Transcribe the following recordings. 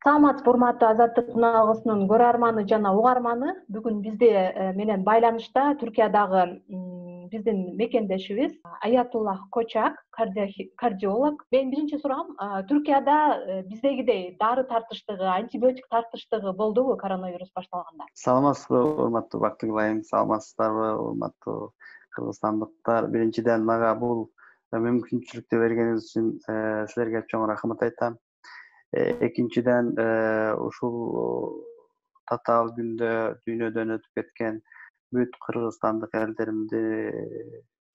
Саламатсызбы, урматтуу Азаттык каналыбызынын көрөрманы жана угарманы. Бүгүн бизде менен байланышта Түркиядагы биздин мекендешибиз Аятуллах Кочак, кардиолог. Менин биринчи суроом, Түркияда биздегидей дары тартыштыгы, антибиотик тартыштыгы болдубу коронавирус башталганда? Саламатсызбы, урматтуу Бактыгүл айым, саламатсыздарбы, урматтуу кыргызстандыктар. Биринчиден, мага бул мүмкүнчүлүктү бергениңиз үчүн силерге чоң рахмат айтам. Экинчиден, ушул татаал күндө дүйнөдөн өтүп кеткен бүт кыргызстандык элдеримди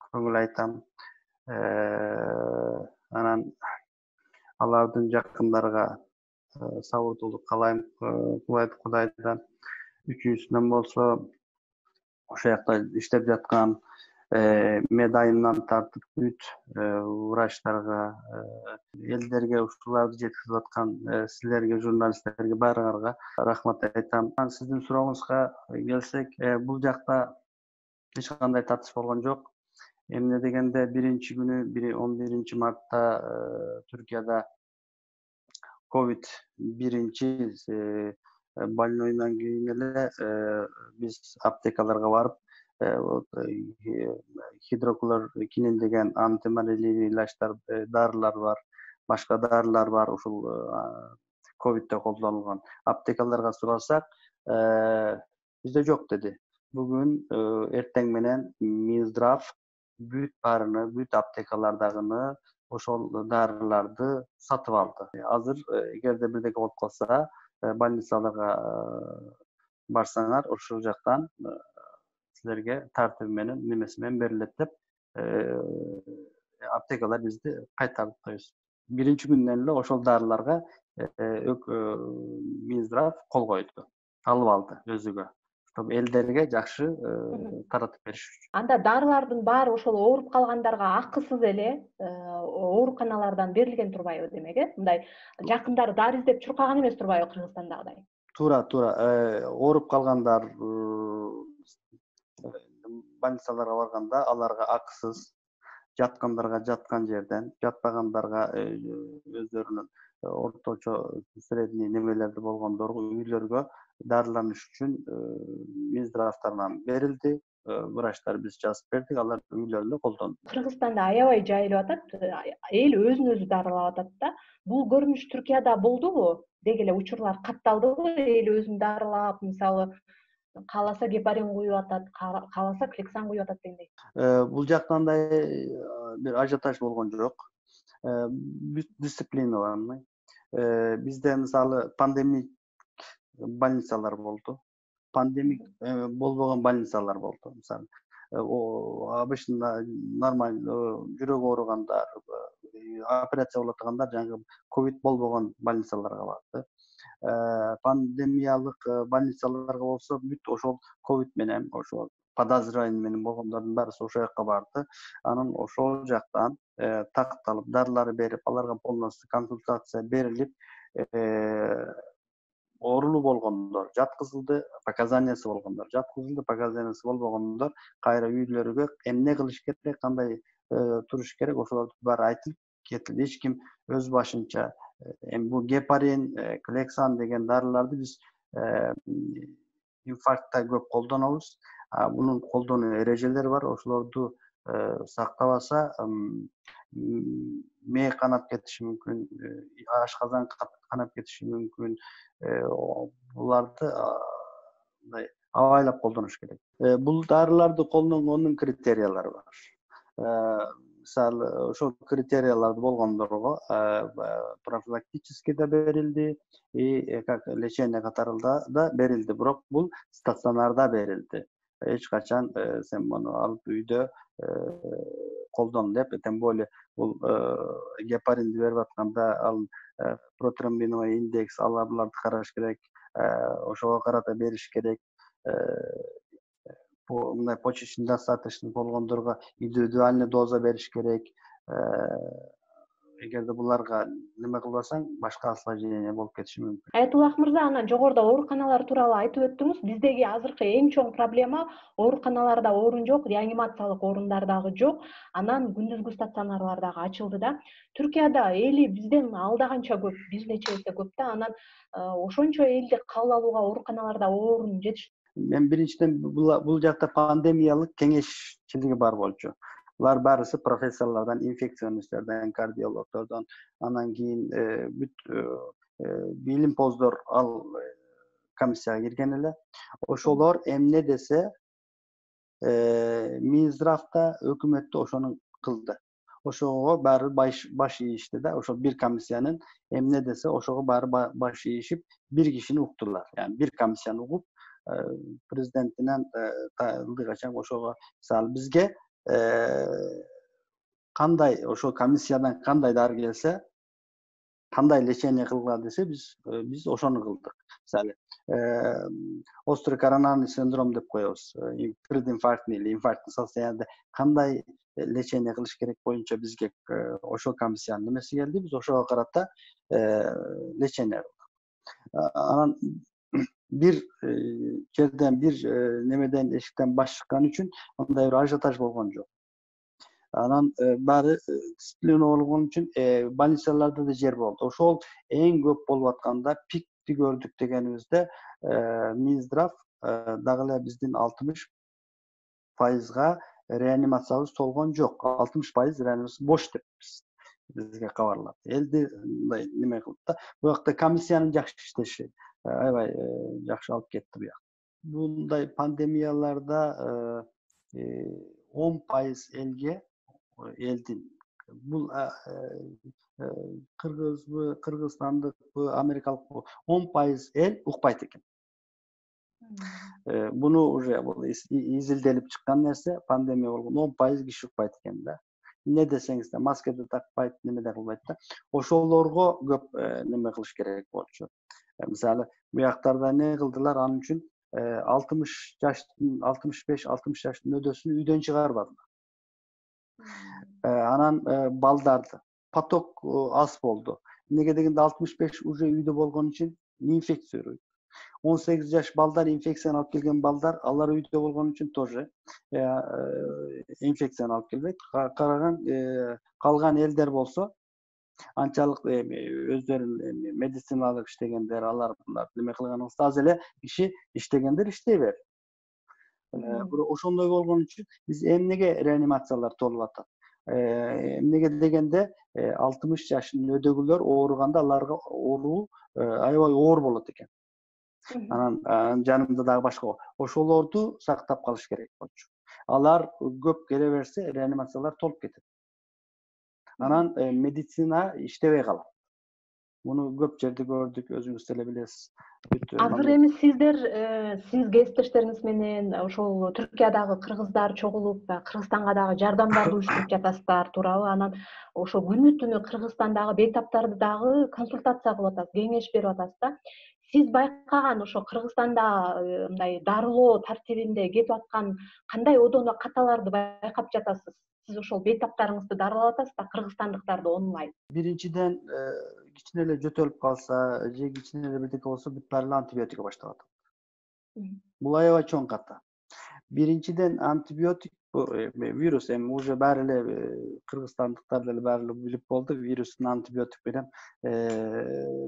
көңүл айтам. Анан алардын жакындарга сабырдуулук каалайм Кудайдан. Үчүнчүсүнөн болсо, ошол жакта иштеп жаткан медайымдан тартып бүт врачтарга, элдерге ушуларды жеткизип аткан силерге, журналисттерге, баарыңарга рахмат айтам. Сиздин сурооңузга келсек, бул жакта эч кандай тартыш болгон жок. Эмне дегенде, биринчи күнү 11 мартта Түркияда ковид биринчи больнойдон кийин эле биз аптекаларга барып, гидроклоркинин деген антималяриялык илачтар, дарылар бар, башка дарылар бар, ушул ковидте колдонулган. Аптекаларга сурасак, бизде жок деди. Бүгүн эртең менен Минздрав бүт аптекалардагыны ошол дарыларды сатып алды. Азыр эгерде бирдеке болуп калса, больницаларга барсаңар, ошол жактан силерге тартиби менен, немеси менен берилет деп аптекалар бизди кайтарып коебуз. Биринчи күндөн эле ошол дарыларга Минздрав кол койду, алып алды өзүгө, чтобы элдерге жакшы таратып бериш үчүн. Анда дарылардын баары ошол ооруп калгандарга акысыз эле ооруканалардан берилген турбайбы демек, Мындай жакындары дары издеп чуркаган эмес турбайбы Кыргызстандагыдай? Туура. Ооруп калгандар больницаларга барганда аларга акысыз, жаткандарга жаткан жерден, жатпагандарга өздөрүнүн орточо средний немелерди болгондорго үйлөргө дарыланыш үчүн Минздравтарынан берилди. Врачтар биз жазып бердик, алар үйлөрүндө колдонду. Кыргызстанда аябай жайылып атат, эл өзүн өзү дарылап атат да. Бул көрүнүш Түркияда болдубу? Деги эле учурлар катталдыбы? Эл өзүн дарылап, мисалы, кааласа гепарин куюп атат, кааласа Клексан куюп атат дегендей. Бул жакта андай бир ажиотаж болгон жок. Бүт дисциплиналанный. Бизде мисалы пандемик больницалар болду. Пандемик болбогон больницалар болду. Мисалы, обычно нормально жүрөк ооругандар, операция болуп аткандар жаңы ковид болбогон больницаларга барды. Пандемиялык больницаларга болсо бүт ошол ковид менен, ошол подозрение менен болгондордун баары ошол жака барды. Анан ошол жактан такталып, дарылар берип, аларга полностью консультация берилип, оорулуу болгондор жаткызылды, показаниясы болгондор жаткызылды, показаниясы болбогондор кайра үйлөргө эмне кылыш керек, кандай туруш керек, ошолорду баары айтылып кетилди. Эч ким өз башынча бул гепарин, Клексан деген дарыларды биз инфарктта көп колдонобуз. Бунун колдонуу эрежелери бар. Ошолорду сактабаса мээ канап кетиши мүмкүн, ашказан канап кетиши мүмкүн. Буларды мындай абайлап колдонуш керек. Бул дарыларды колдонгондун критериялары бар. Мисалы, ошол критерияларды болгондорго профилактически да берилди, и как лечение катарында да берилди. Бирок бул стационарда берилди. Эч качан сен муну алып үйдө колдон деп, тем более бул гепаринди берип атканда ал протромбиновый индекс, аларды караш керек, ошого карата бериш керек. Мындай почечный достаточный болгондорго индивидуальный доза бериш керек. эгерде буларга неме кылбасаң, башка осложнение болуп кетиши мүмкүн. Аятуллах мырза, анан жогоруда ооруканалар тууралуу айтып өттүңүз. Биздеги азыркы эң чоң проблема ооруканаларда орун жок, реанимациялык орундар дагы жок. Анан күндүзгү стационарлар дагы ачылды да. Түркияда эли бизден алдаганча көп, бир нече эсе көп да. Анан ошончо элди кабыл алууга ооруканаларда орун жетиш. Мен биринчиден бул жакта пандемиялык кеңешчилиги бар болчу. Булар баарысы профессорлордон, инфекционисттерден, кардиологдордон, анан кийин бүт билимпоздор ал комиссияга кирген эле. Ошолор эмне десе, Минздравда, өкмөттө ошону кылды. Ошого баары баш ийишти да. Ошол бир комиссиянын эмне десе, ошого баары баш ийишип, бир кишини уктулар. Yani бир комиссияны угуп, президентинен ылдый качан ошого мисалы бизге кандай ошол комиссиядан кандай дары келсе, кандай лечение кылгыла десе, биз ошону кылдык. Мисалы острый коронарный синдром деп коебуз. Прединфарктный или инфарктный состояниеде кандай лечение кылыш керек боюнча бизге ошол комиссиянын немеси келди. Биз ошого карата лечение кылдык. Анан бир жерден, бир немеден, эшиктен баш чыккан үчүн андай бир ажиотаж болгон жок. Анан баары дисциплина болгон үчүн больницаларда да жер болду. Ошол эң көп болуп атканда пикти көрдүк дегенибизде Минздрав дагы эле биздин 60%га реанимациябыз толгон жок. 60% реанимация бош деп бизге кабарлады. Элди мындай неме кылды да. Бу жакта комиссиянын жакшы иштеши аябай жакшы алып кетти бу жак. Bunday pandemiyalarda 10% elge eldin. Bu Kırgızstanlık, Amerikalık 10% el ukpayt eken. Bunu уже изилделип чыккан нерсе, пандемия болгон 10% киши укпайт экен да. Не десеңиз да, маска да такпайт, неме да кылбайт да. Ошолорго көп неме кылыш керек болчу. Мисалы, bu жактарда не кылдылар, анын үчүн 60 жаштын 65-60 жаштын өдөсүн үйдөн чыгарбадылар. Анан балдарды поток аз болду. Неге дегенде 65 уже үйдө болгон үчүн инфекция өрөйт. 18 жаш балдар, инфекцияны алып келген балдар, алар үйдө болгон үчүн тоже инфекцияны алып келбейт. Калган элдер болсо анчалык өздөрүн медициналык иштегендер, алар неме кылганыбызда аз эле киши иштегендер иштей берди. Бирок ошондой болгон үчүн биз эмнеге реанимациялар толуп атат? Эмнеге дегенде 60 жашынын өдөгүлөр ооруганда аларга ооруу аябай оор болот экен. Анан жанымда дагы башка ошолорду сактап калыш керек болчу. Алар көп келе берсе, реанимациялар толуп кетет. Анан медицина иштебей калат. Муну көп жерде көрдүк, өзүңүз деле билесиз. Азыр эми сиздер сиз кесиптештериңиз менен ошол Түркиядагы кыргыздар чогулуп, Кыргызстанга дагы жардамдарды уюштуруп жатасыздар туурабы? Анан ошо күнү-түнү Кыргызстандагы бейтаптарды дагы консультация кылып атасыз, кеңеш берип атасыз да. Сиз байкаган ошо Кыргызстанда мындай дарылоо тартибинде кетип аткан кандай одоно каталарды байкап жатасыз? Сиз ошол бейтаптарыңызды дарылап атасыз да, кыргызстандыктарды онлайн. Биринчиден кичине эле жөтөлүп калса, же кичине эле бирдеке болсо бүт баары антибиотикке баштап атат. Бул аябай чоң ката. Биринчиден антибиотик вирус эми уже баары эле кыргызстандыктар деле баары эле билип болду, вирустун антибиотик менен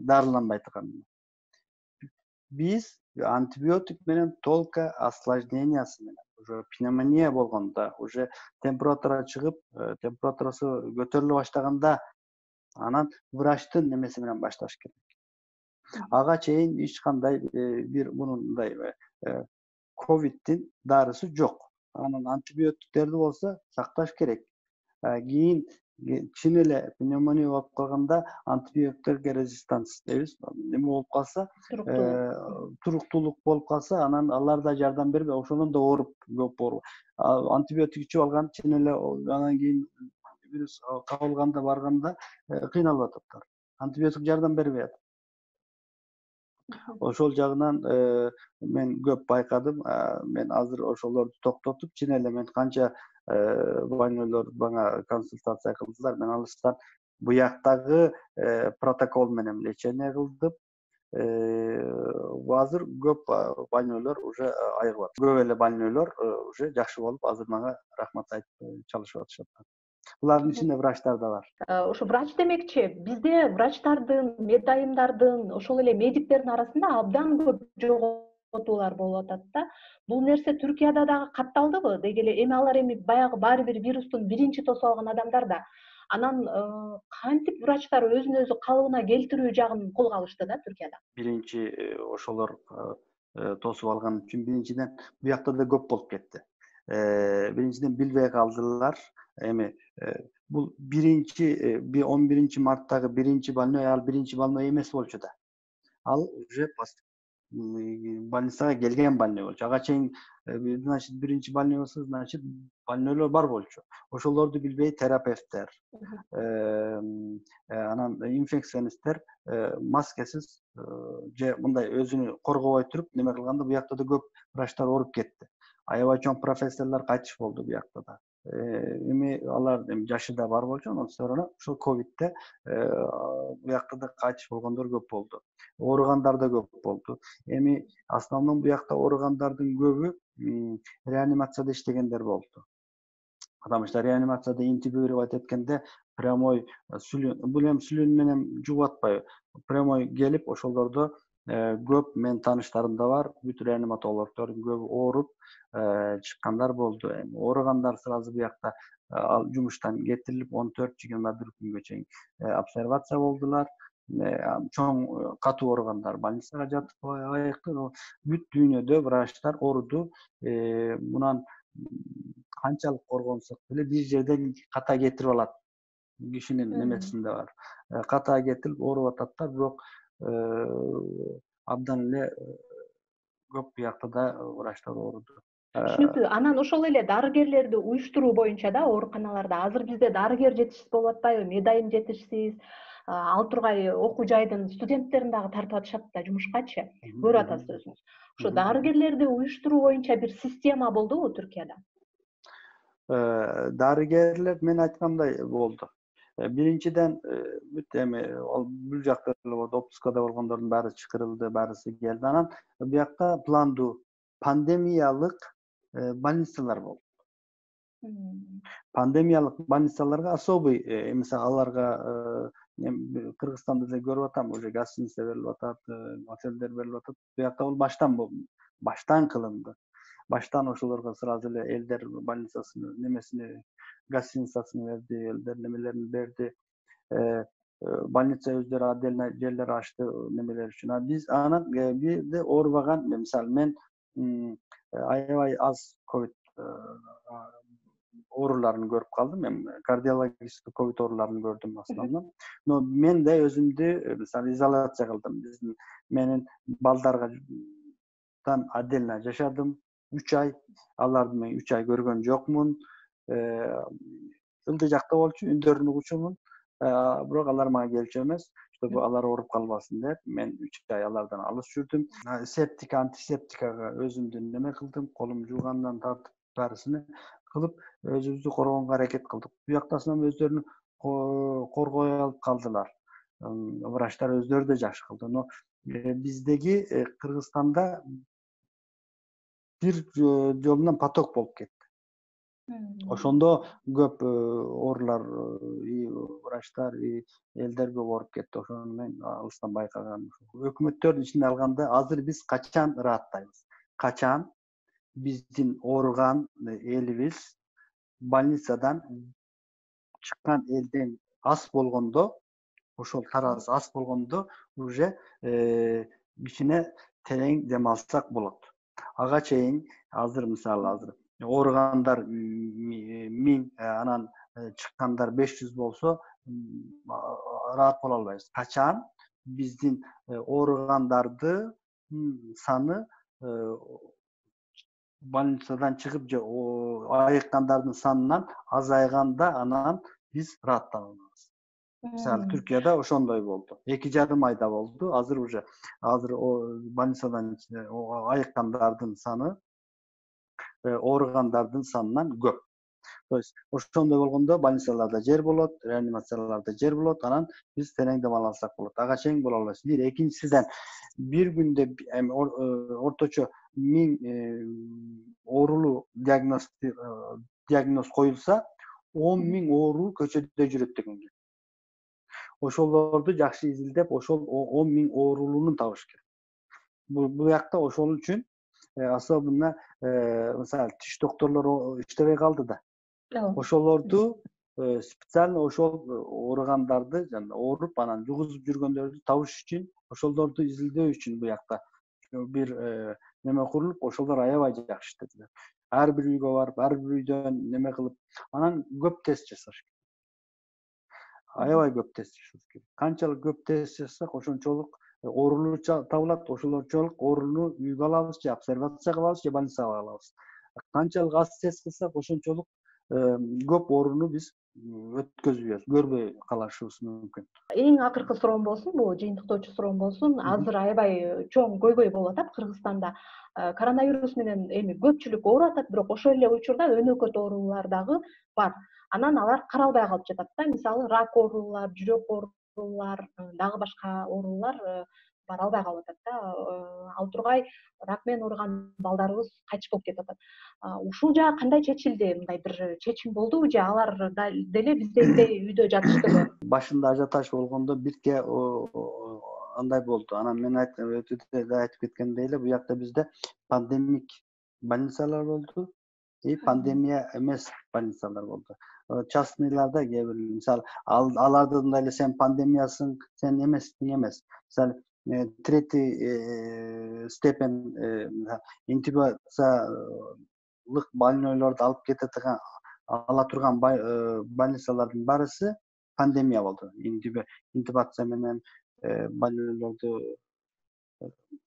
дарыланбайт экенин. Биз антибиотик менен только осложнениясы менен, уже пневмония болгондо, уже температура чыгып, температурасы көтөрүлө баштаганда, анан врачтын немеси менен башташ керек. Ага чейин эч кандай бир мындай ковидтин дарысы жок. Анан антибиотиктерди болсо сакташ керек. Кийин кичине эле пневмония болуп калганда антибиотиктерге резистанс дейбиз. Неме болуп калса, туруктуулук болуп калса, анан алар да жардам бербей, ошондон да ооруп көп ооруп. Антибиотик ичип алган кичине эле анан кийин вирус кабылганда барганда кыйналып атат. Антибиотик жардам бербей атат. Ошол жагынан мен көп байкадым. Мен азыр ошолорду токтотуп, чын эле мен канча больнойлор бана консультация кылдылар, мен алыстан Буяктагы протокол менен лечение кылдым. Азыр көп больнойлор уже айыгып атат. Көп эле больнойлор уже жакшы болуп, азыр мага рахмат айтып чалышып атышат. Булардын ичинде врачтар да бар. Ошо врач демекчи, бизде врачтардын, медайымдардын, ошол эле медиктердин арасында абдан көп жоготуулар болуп атат да. Бул нерсе Түркияда дагы катталдыбы? Деги эле эми алар баягы баары бир вирустун биринчи тосуп алган адамдар да. Анан кантип врачтар өзүн өзү калыбына келтирүү жагын колго алышты да Түркияда? Биринчи ошолор тосуп алган үчүн биринчиден буякта да көп болуп кетти. Биринчиден билбей калдылар. Эми бул 11-марттагы биринчи больной, ал биринчи больной эмес болчу да. Ал уже больницага келген больной болчу. Ага чейин, значит, биринчи больной болсо, значит, больнойлор бар болчу. Ошолорду билбей терапевттер, анан инфекционисттер маскасыз же мындай өзүнү коргобой туруп неме кылганда буякта да көп врачтар ооруп кетти. Аябай чоң профессорлор кайтыш болду буякта да. Эми алар жашы да бар болчу, андан соң ошол ковидте буякта да кайтыш болгондор көп болду. Ооругандар да көп болду. Эми основном буякта ооругандардын көбү реанимацияда иштегендер болду. Потому что реанимацияда интубировать эткенде прямой бул эми сүлүн менен жугуп атпайбы, прямой келип ошолордо көп менин тааныштарым да бар, бүт реаниматологдордун көбү ооруп чыккандар болду. Эми ооругандар сразу буякта жумуштан кетирилип 14-21 күнгө чейин обсервация болдулар. Чоң катуу ооругандар больницага жатып айыкты. Бүт дүйнөдө врачтар ооруду. Мунан канчалык коргонсок деле бир жерден ката кетирип алат. Кишинин немесинде бар. Ката кетирип ооруп ататтар, бирок абдан эле көп буякта да врачтар ооруду. Түшүнүктүү. Анан ошол эле дарыгерлерди уюштуруу боюнча да ооруканаларда азыр бизде дарыгер жетишсиз болуп атпайбы, медайым жетишсиз, ал тургай окуу жайдын студенттерин дагы тартып атышат да жумушкачы. Көрүп атасыз өзүңүз. Ошо дарыгерлерди уюштуруу боюнча бир система болдубу Түркияда? Дарыгерлер мен айткандай болду. Биринчиден бүт эми бул жакта эле болду, отпускада болгондордун баары чакырылды, баарысы келди. Анан буякта пландуу пандемиялык больницалар болду. Пандемиялык больницаларга особый, мисалы аларга Кыргызстанда да көрүп атам, уже гостиница берилип атат, отелдер берилип атат. Буякта бул баштан кылынды. Баштан ошолорго сразу эле элдер больницасынын немесини, гостиницасын берди, элдер немелерин берди. Больница өздөрү отдельно жерлер ачты немелер үчүн. Биз анан бирде оорубаган, мисалы мен аябай аз ковид ооруларын көрүп калдым. Мен кардиологический ковид ооруларын көрдүм основном. Но мен да өзүмдү мисалы изоляция кылдым. Менин балдарга отдельно жашадым 3 ай. Аларды мен 3 ай көргөн жокмун. Ылдый жакта болчу, үндөрүн угучумун. Бирок алар мага келчү эмес, чтобы алар ооруп калбасын деп, мен 3 ай алардан алыс жүрдүм. Септика, антисептикага өзүмдү неме кылдым, колум жуугандан тартып баарысын кылып, өзүбүздү коргонго аракет кылдык. Буяктасынан өздөрүн коргой алып калдылар. Врачтар өздөрү да жакшы кылды. Но биздеги Кыргызстанда бир жолунан поток болуп кетти. Ошондо көп оорулар, врачтар, элдер көп ооруп кетти. Ошону мен алыстан байкагам. Өкмөттөрдүн ичинде алганда азыр биз качан ырааттайбыз? Качан биздин ооруган элибиз больницадан чыккан элден аз болгондо, ошол тараз аз болгондо уже кичине терең дем алсак болот. Ага чейин азыр мисалы ооругандар 1000, анан чыккандар 500 болсо ыраат боло албайбыз. Качан биздин ооругандардын саны больницадан чыгып же айыккандардын санынан азайганда анан биз ырааттанабыз. Мисалы Түркияда ошондой болду. 2,5 айда болду. Азыр больницадан айыккандардын саны ооругандардын санынан көп. То есть ошондой болгондо больницаларда жер болот, реанимацияларда жер болот, анан биз терең дем ала алсак болот. Ага чейин боло алабыз. Бир, экинчисиден бир күндө орточо 1000 оорулуу диагноз коюлса, 10.000 оору көчөдө жүрөт дегенге. Ошолорду жакшы изилдеп, ошол 10.000 оорулууну табыш керек. Бул жакта ошол үчүн особенно мисалы тиш докторлору иштебей калды да. Ошолорду специально ошол ооругандарды жана ооруп анан жугузуп жүргөндөрдү табыш үчүн, ошолорду изилдөө үчүн бул жакта бир неме курулуп, ошолор аябай жакшы иштедилер. Ар бир үйгө барып, ар бир үйдөн неме кылып, анан көп тест жасаш керек. Аябай көп тест жасаш керек. Канчалык көп тест жасасак, ошончолук оорулуу табылат, ошолорчолук оорулууну үйгө алабыз, же обсервация кылабыз, же больницага алабыз. Канчалык аз тест кылсак, ошончолук көп ооруну биз өткөзбөйбүз, көрбөй калышыбыз мүмкүн. Эң акыркы суроом болсун, бул жыйынтыктоочу суроом болсун. Азыр аябай чоң көйгөй болуп атат Кыргызстанда. Коронавирус менен эми көпчүлүк ооруп атат, бирок ошол эле учурда өнөкөт оорулар дагы бар. Анан алар каралбай калып жатат да. Мисалы рак оорулар, жүрөк оорулар, дагы башка оорулар баралбай калып атат да. Ал тургай рак менен ооруган балдарыбыз кайтыш болуп кетип атат. Ушул жагы кандай чечилди? Мындай бир чечим болдубу же алар деле биздегидей үйдө жатыштыбы? Башында ажиотаж болгондо бирке андай болду. Анан мен айтып кеткендей эле, бул жакта бизде пандемик больницалар болду и пандемия эмес больницалар болду. Частныйларда кээ бир мисалы аларды мындай эле сен пандемиясың, сен эмессиң эмес. Мисалы третий степень интубациялык больнойлорду алып ала турган больницалардын баарысы пандемия болду. Интубация менен больнойлорду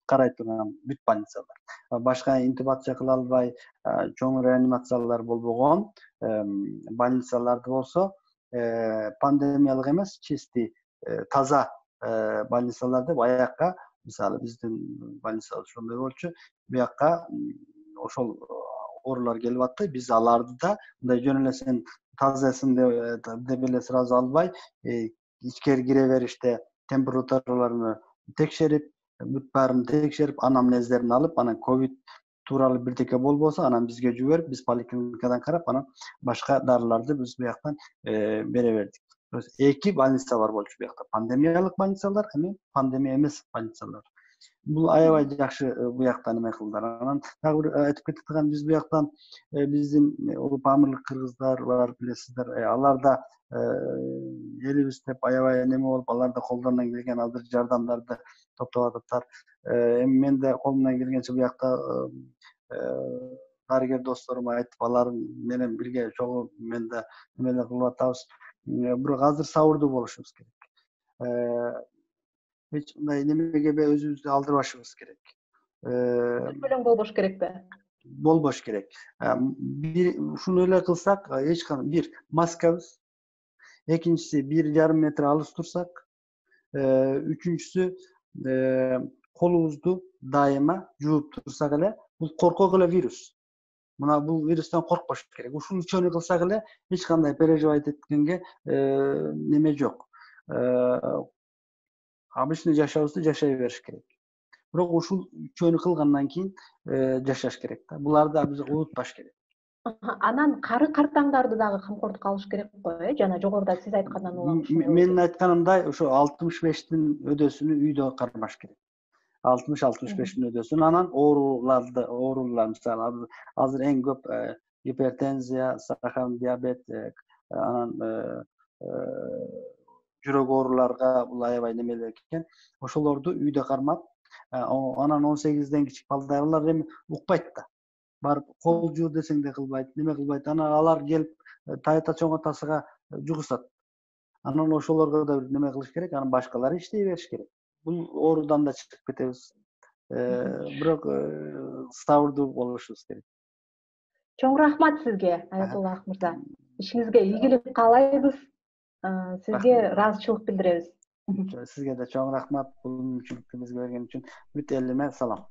карай турган бүт больницалар. Башка интубация кыла албай, чоң реанимациялар болбогон больницаларды болсо, пандемиялык эмес, чисти таза больницаларды аякка, мисалы биздин больница ошондой болчу, буякка ошол оорулар келип атты. Биз аларды да мындай жөн эле сен тазасын деп эле сразу албай, ичкери кире бериште температураларын текшерип, бүт баарын текшерип, анамнездерин алып, анан ковид тууралуу бирдеке болбосо, анан бизге жиберип, биз поликлиникадан карап, анан башка дарыларды биз буяктан бере бердик. Эки больница бар болчу буякта. Пандемиялык больницалар, эми пандемия эмес больницалар. Бул аябай жакшы буяктан эме кылдылар. Анан дагы бир айтып кетип аткан, биз буяктан биздин улуп амырлык кыргыздар бар, билесиздер, алар да элибиз деп аябай неме болуп, алар да колдорунан келген азыр жардамдарды топтоп атыптыр. Эми мен да колумдан келгенче буякта дарыгер досторума айтып, алар менен бирге чогуу мен да эмелер кылып атабыз. Бирок азыр сабырдуу болушубуз керек. Эч мындай немеге өзүбүздү алдырбашыбыз керек. Көңүлөң болбош керекпи? Болбош керек. Ушуну эле кылсак, эч кандай бир маскабыз, экинчиси 1,5 метр алыс турсак, үчүнчүсү колубузду дайыма жууп турсак эле, бул коркок эле вирус. Мына бул вирустан коркпош керек. Ушул үчөөнү кылсак эле эч кандай переживать эткенге неме жок. Обычный жашообузду жашай бериш керек. Бирок ушул үчөөнү кылгандан кийин жашаш керек да. Буларды биз унутпаш керек. Анан кары картаңдарды дагы камкордукка алыш керек го, жана жогоруда сиз айткандан улам. Менин айтканымдай, ошо 65-тин өдөсүнү үйдө кармаш керек. 60-65-тин өдөсүн, анан оорулар мисалы азыр эң көп гипертензия, сахарный диабет, анан жүрөк ооруларга бул аябай немелер экен. Ошолорду үйдө кармап, анан 18ден кичик балдар эми укпайт да. Барып кол жуу десең да кылбайт, неме кылбайт. Анан алар келип тайта чоң атасыга жугушат. Анан ошолорго да бир неме кылыш керек, анан башкалар иштей бериш керек. Бул оорудан да чыгып кетебиз. Бирок сабырдуу болушубуз керек. Чоң рахмат сизге, Аятулла мырза. Ишиңизге ийгилик каалайбыз. Сизге ыраазычылык билдиребиз. Сизге да чоң рахмат, бул мүмкүнчүлүктү бизге берген үчүн. Бүт элиме салам.